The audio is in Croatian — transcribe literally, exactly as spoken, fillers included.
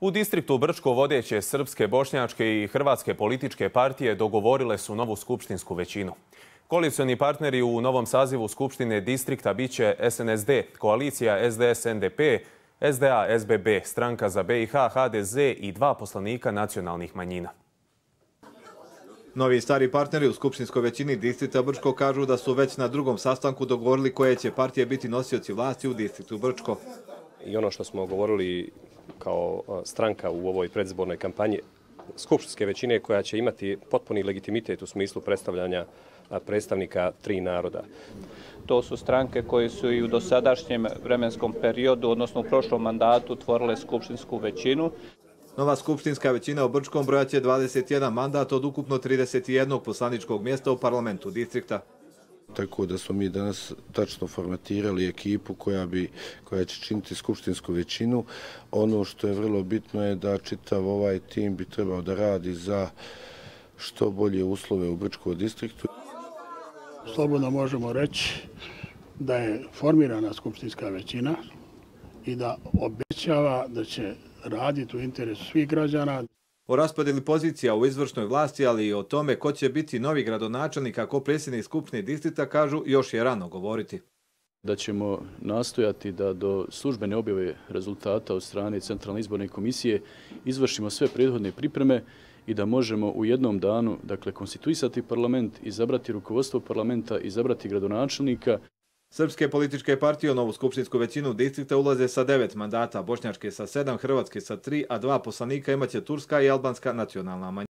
U distriktu Brčko vodeće srpske, bošnjačke i hrvatske političke partije dogovorile su novu skupštinsku većinu. Koalicioni partneri u novom sazivu Skupštine distrikta biće S N S D, koalicija S D S N D P, S D A S B B, Stranka za B i H H D Z i dva poslanika nacionalnih manjina. Novi i stari partneri u skupštinskoj većini distrikta Brčko kažu da su već na drugom sastanku dogovorili koje će partije biti nosioci vlasti u distriktu Brčko. I ono što smo govorili kao stranka u ovoj predizbornoj kampanji skupštinske većine koja će imati potpuni legitimitet u smislu predstavljanja predstavnika tri naroda. To su stranke koje su i u dosadašnjem vremenskom periodu, odnosno u prošlom mandatu, tvorile skupštinsku većinu. Nova skupštinska većina u Brčkom brojaće dvadeset jedan mandat od ukupno trideset jednog poslaničkog mjesta u parlamentu distrikta. Tako da smo mi danas tačno formatirali ekipu koja, bi, koja će činiti skupštinsku većinu. Ono što je vrlo bitno je da čitav ovaj tim bi trebao da radi za što bolje uslove u Brčkom distriktu. Slobodno možemo reći da je formirana skupštinska većina i da obećava da će raditi u interesu svih građana. O raspodjeli pozicija u izvršnoj vlasti, ali i o tome ko će biti novi gradonačelnik ako predsjednik skupštine distrikta, kažu još je rano govoriti. Da ćemo nastojati da do službene objave rezultata od strane Centralne izborne komisije izvršimo sve prethodne pripreme i da možemo u jednom danu, dakle, konstituisati parlament, izabrati rukovodstvo parlamenta, izabrati gradonačelnika. Srpske političke partije u novu skupštinsku većinu distrikta ulaze sa devet mandata, bošnjačke sa sedam, hrvatske sa tri, a dva poslanika imaće turska i albanska nacionalna manjina.